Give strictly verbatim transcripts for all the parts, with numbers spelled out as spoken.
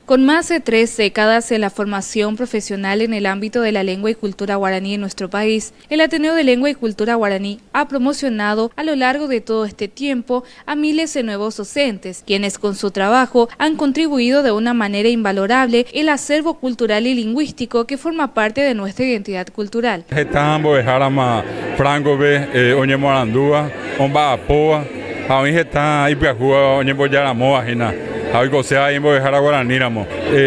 Con más de tres décadas en la formación profesional en el ámbito de la lengua y cultura guaraní en nuestro país, el Ateneo de Lengua y Cultura Guaraní ha promocionado a lo largo de todo este tiempo a miles de nuevos docentes, quienes con su trabajo han contribuido de una manera invalorable el acervo cultural y lingüístico que forma parte de nuestra identidad cultural. Franco eh, ha oikose imbo'ehára guaraníramo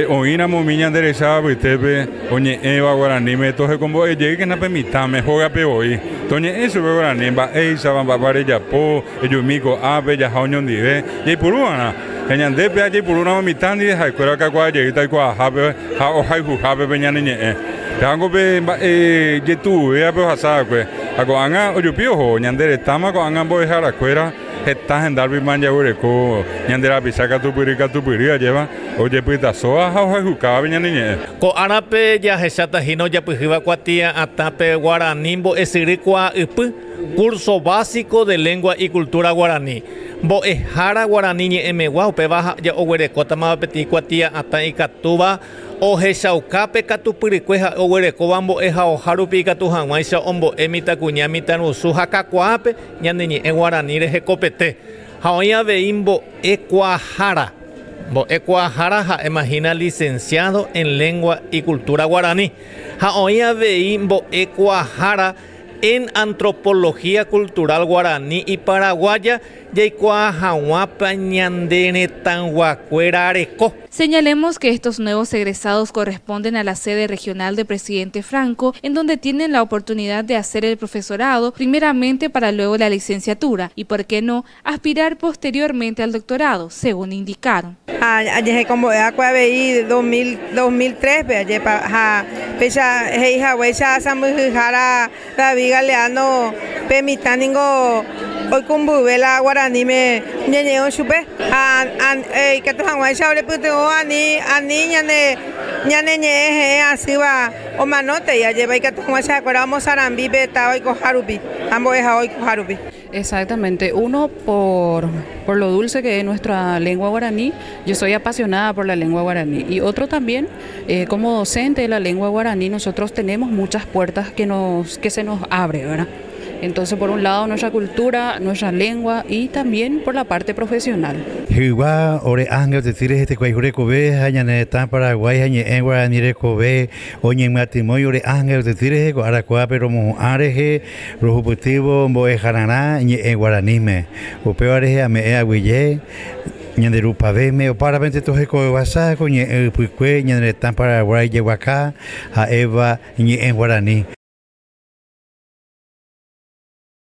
oĩramo umi ñanderecha apytépe oñe'ẽva guaraníme tohekombo'ejeýkena pe mitãme hógape voi toñe'ẽ chupe guarani mba'éichapa mba'épa rejapo ejumi ko'ápe jaha oñondive jaipuruva'erã ñandépe jaipurúramo mitã ndive ha'ekuéra okakuaajeýta oikuaahápe ha ohayhuhápe pe ñane ñe'ẽ pévango pe mba'e jetu'uvévape ohasava'ekue ha ko'ág̃a ojupi oho ñande retãma ko'ág̃a mbo'eharakuéra heta hendárupi manjaguereko ñande rapicha katupyry katupyry ajéva ojepytasóva ha ohayhukávape ñane ñe'ẽ. Ko'árape jahecháta hína ojapyhýva kuatia'atãpe guarani mbo'esyry kuaa'ypy curso básico de lengua y cultura guaraní. Mbo'ehára guarani ñe'ẽmegua upéva oguerekótama peteĩ kuatia'atã ikatúva ohechaukápe katupyrykue ha oguerekóva mbo'ehaoha rupi ikatu hag̃uáicha ombo'e mitãkuña mitãrusu ha kakuaápe ñane ñe'ẽ guarani rehekopete ha oĩ avei mbo'ekuaahára mbo'ekuaahára ha'emahína licenciado en lengua y cultura guaraní ha oĩ avei mbo'ekuaahára en antropología cultural guaraní y paraguaya jaikuaa hag̃uápa ñande retãyguakuéra reko. Señalemos que estos nuevos egresados corresponden a la sede regional de Presidente Franco, en donde tienen la oportunidad de hacer el profesorado primeramente para luego la licenciatura y, por qué no, aspirar posteriormente al doctorado, según indicaron. Ajehekombo'e dos mil tres ha péicha he'ihaguéicha sãmbyhyhára David Galeano pe mitã ningo oikũmbyve la guaraníme ñañe'ẽ chupe ha ikatu hag̃uáicha orepytyvõ ani ani ñane ñane ñe'ẽ he'ẽ asýva omanótei ajépa ikatu hag̃uáicha ha'ekuéra omosarambi pe táva oikoha rupi ha mbo'ehao oikoha rupi. Exactamente. Uno, por, por lo dulce que es nuestra lengua guaraní, yo soy apasionada por la lengua guaraní. Y otro también, eh, como docente de la lengua guaraní, nosotros tenemos muchas puertas que, nos, que se nos abre, ¿verdad? Entonces, por un lado, nuestra cultura, nuestra lengua y también por la parte profesional. Jygua ore ánga otetýre hetekuái rekove ha ñane retã Paraguái ha ñe'ẽ guarani rekove oñemyatymói ore ánga otetýre rehe ko arakuápe romohu'ã rehe rohupytývo mbo'ehararã ñe'ẽ guaraníme upéva rehe ame'ẽ aguyje ñande rupavẽme opárapente tohekovevasa ko ñe'ẽ ypykue ñane retã Paraguái jeguaka ha'éva ñe'ẽ guarani.